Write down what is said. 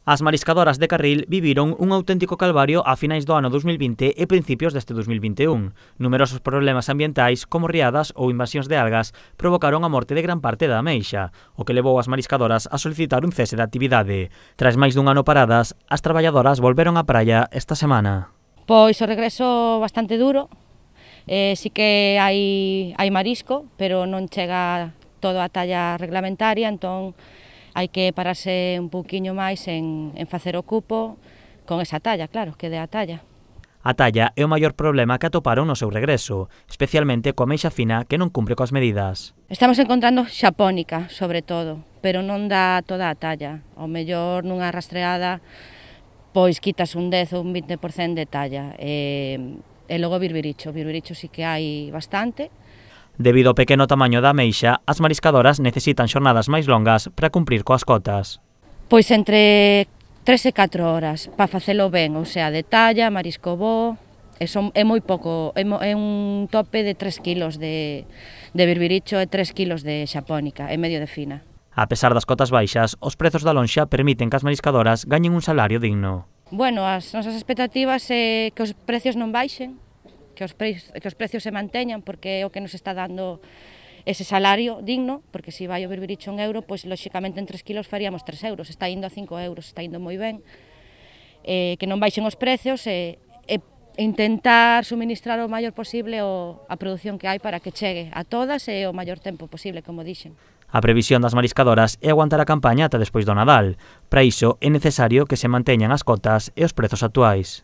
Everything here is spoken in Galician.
As mariscadoras de Carril viviron un auténtico calvario a finais do ano 2020 e principios deste 2021. Numerosos problemas ambientais, como riadas ou invasións de algas, provocaron a morte de gran parte da ameixa, o que levou as mariscadoras a solicitar un cese de actividade. Tras máis dun ano paradas, as traballadoras volveron á praia esta semana. Pois o regreso bastante duro, sí que hai marisco, pero non chega todo a talla reglamentaria, entón hai que pararse un pouquiño máis en facer o cupo con esa talla, claro, que dé a talla. A talla é o maior problema que atoparon no seu regreso, especialmente coa ameixa fina que non cumpre coas medidas. Estamos encontrando xapónica, sobre todo, pero non dá toda a talla. Ao mellor nunha rastreada, pois quitas un 10 ou un 20% de talla. E logo birbiricho sí que hai bastante. Debido ao pequeno tamaño da ameixa, as mariscadoras necesitan xornadas máis longas para cumprir coas cotas. Pois entre 3 e 4 horas para facelo ben, ou sea, de talla, marisco bo, é moi pouco, é un tope de 3 kilos de birbiricho e 3 kilos de xapónica, e medio de fina. A pesar das cotas baixas, os prezos da lonxa permiten que as mariscadoras gañen un salario digno. Bueno, as nosas expectativas é que os precios non baixen, que os precios se manteñan, porque é o que nos está dando ese salario digno, porque se vai o birbiricho en euro, pois lóxicamente en 3 kilos faríamos 3 euros, está indo a 5 euros, está indo moi ben, que non baixen os precios e intentar suministrar o maior posible a produción que hai para que chegue a todas e o maior tempo posible, como dixen. A previsión das mariscadoras é aguantar a campaña ata despois do Nadal. Para iso é necesario que se manteñan as cotas e os prezos actuais.